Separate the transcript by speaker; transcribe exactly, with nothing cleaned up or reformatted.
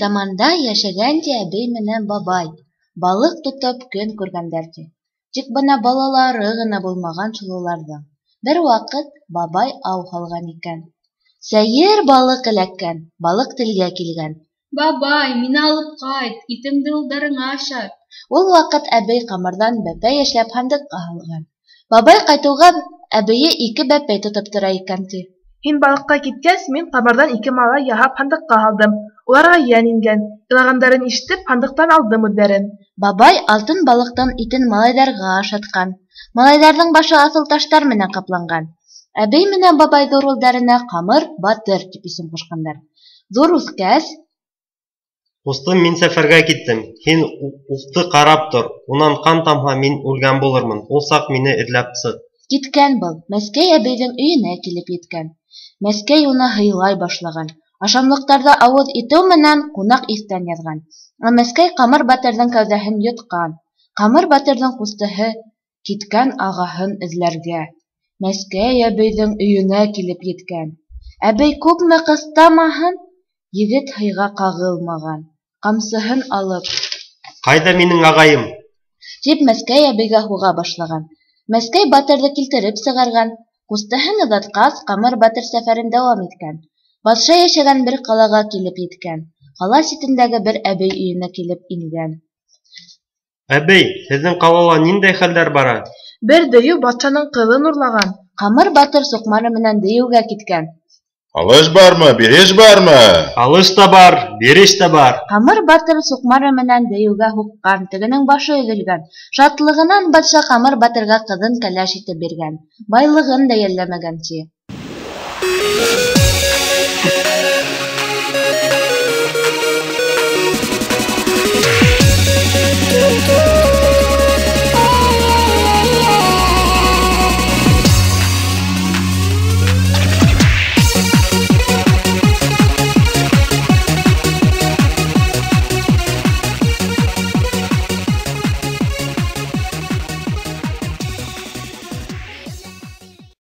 Speaker 1: заманда йәшәгән ти әбей менән бабай. Балыҡ тотоп көн күргәндәр ти. Тик бына балалары ғына булмаған шул уларҙың. Бер ваҡыт бабай ау һалған икән. Сәйер балыҡ эләккән, балыҡ телгә килгән.
Speaker 2: Бабай, мине алып ҡайт, итемде улдарыңа ашат.
Speaker 1: Ул ваҡыт әбей ҡамырҙан бәпәй эшләп һандыҡҡа һалған. Бабай ҡайтыуға әбейе ике бәпәй тотоп тора икән ти.
Speaker 3: Һин балыҡҡа киткәс, мин ҡамырҙан ике малай яһап һандыҡҡа һалдым. Уларға йән ингән. Илағандарын ишетеп, һандыҡтан алдым үҙҙәрен.
Speaker 1: Бабай алтын балыҡтың итен малайҙарға ашатҡан. Малайҙарҙың башы аҫыл таштар менән ҡапланған. Әбей менән бабай ҙур улдарына Ҡамыр батыр тип исем ҡушҡандар. Ҙур үҫкәс:
Speaker 4: Ҡустым, мин сәфәргә киттем, һин уҡты ҡарап тор, унан ҡан тамһа, мин үлгән булырмын, ул саҡ мине эҙләп сыҡ.
Speaker 1: Киткән был, Мәскәй әбейҙең өйөнә килеп еткән. Мәскәй уны һыйлай башлаған. Ашамлыҡтарҙы ауыҙ итеү менән ҡунаҡ иҫтән яҙған. Ә Мәскәй Ҡамыр батырҙың кәүҙәһен йотҡан. Ҡамыр батырҙың ҡустыһы киткән ағаһын эҙләргә. Мәскәй әбейҙең өйөнә килеп еткән. Әбей күпме ҡыҫтамаһын, егет һыйға ҡағылмаған. Ҡамсыһын алып:
Speaker 4: Ҡайҙа минең ағайым?
Speaker 1: Тип Мәскәй әбейгә һуға башлаған. Мәскәй батырҙы килтереп сығарған. Ҡустыһын оҙатҡас, Ҡамыр батыр сәфәрен дауам иткән. Батша йәшәгән бер ҡалаға килеп еткән. Ҡала ситендәге бер әбей өйөнә килеп ингән.
Speaker 4: Әбей, һеҙҙең ҡалала ниндәй хәлдәр бара?
Speaker 3: Бер дейеү батшаның ҡыҙын урлаған.
Speaker 1: Ҡамыр батыр суҡмары менән дейеүгә киткән.
Speaker 5: Алыш бармы, биреш бармы?
Speaker 4: Алыш та бар, биреш тә бар.
Speaker 1: Ҡамыр батыр суҡмары менән дейеүгә һуҡҡан, тегенең башы өҙөлгән. Шатлығынан батша Ҡамыр батырға ҡыҙын кәләш итеп биргән. Байлығын да йәлләмәгән ти.